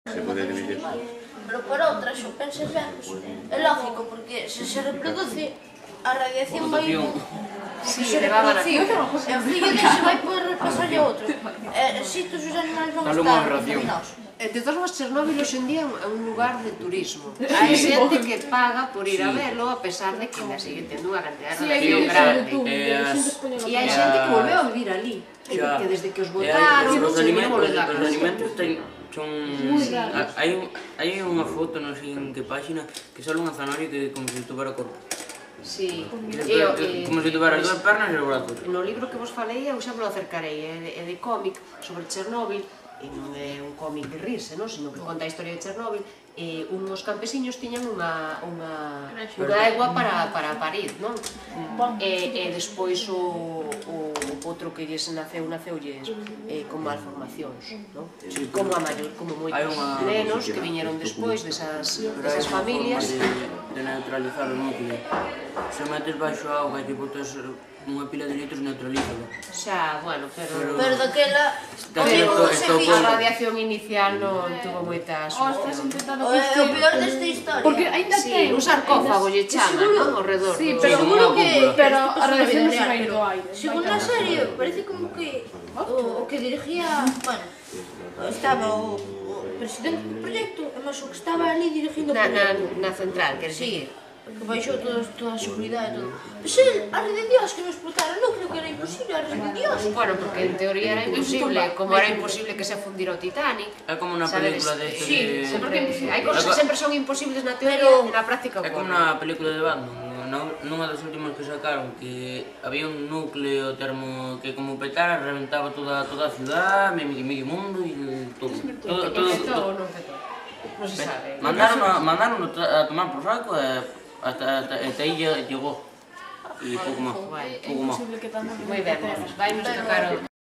Se pode dividir. Pero por outras, se pensas ben, é lógico, porque se se reproduce, a radiación vai... Sí, se reproduce, e o fillo dese vai poder pasarlle a outro. Si todos os animales van a estar contaminados. De todos modos, Chernóbil hoxe en día é un lugar de turismo. Hai xente que paga por ir a verlo, a pesar de que ainda sigue tendo unha cantidad de radiación grande. E hai xente que volveu a vivir ali, que desde que os botaron, non se volveu a casa. Os alimentos son... Hai unha foto, non sei en que página, que sale unha zanahoria que como se tuvera corpo. Sí. Como se tuvera as dúas pernas e os brazos. No libro que vos falei, eu xa me lo acercarei, é de cómic sobre Chernóbil, e non é un cómic de rirse, sino que conta a historia de Chernóbil. Uns campesiños tiñan unha egua para parir, non? E despois o outro que lles naceulles con malformacións, non? Como moitos nenos que viñeron despois desas familias. De neutralizar o núcleo. Se metes baixo a auga e te botas unha pila de litros, neutralízalo. Xa, bueno, pero daquela... a radiación inicial non tuvo moita solución. O peor desta historia... Porque ainda ten... Un sarcófago lle chaman, non? Ao redor. Sí, pero seguro que... Pero a radiación non se vai do aire. Según a serie, parece como que o que dirigía... Bueno, estaba o presidente do proxecto, mas o que estaba ali dirigindo o proxecto. Na central, queres dicir? Que baixou toda a seguridade e todo. Pois a red de Dios que nos explotara o núcleo, que era imposible, a red de Dios. Bueno, porque en teoría era imposible, como era imposible que se fundira o Titanic. É como unha película de... Sí, hai cosas que sempre son imposibles na teoría e na práctica. É como unha película de Batman, nunha das últimas que sacaron, que había un núcleo termo que como petara, reventaba toda a ciudad, medio mundo e todo. Todo non petou. Non se sabe. Mandaron a tomar por saco e hasta aí llegó. E pouco máis. Moi ben, vai nos tocar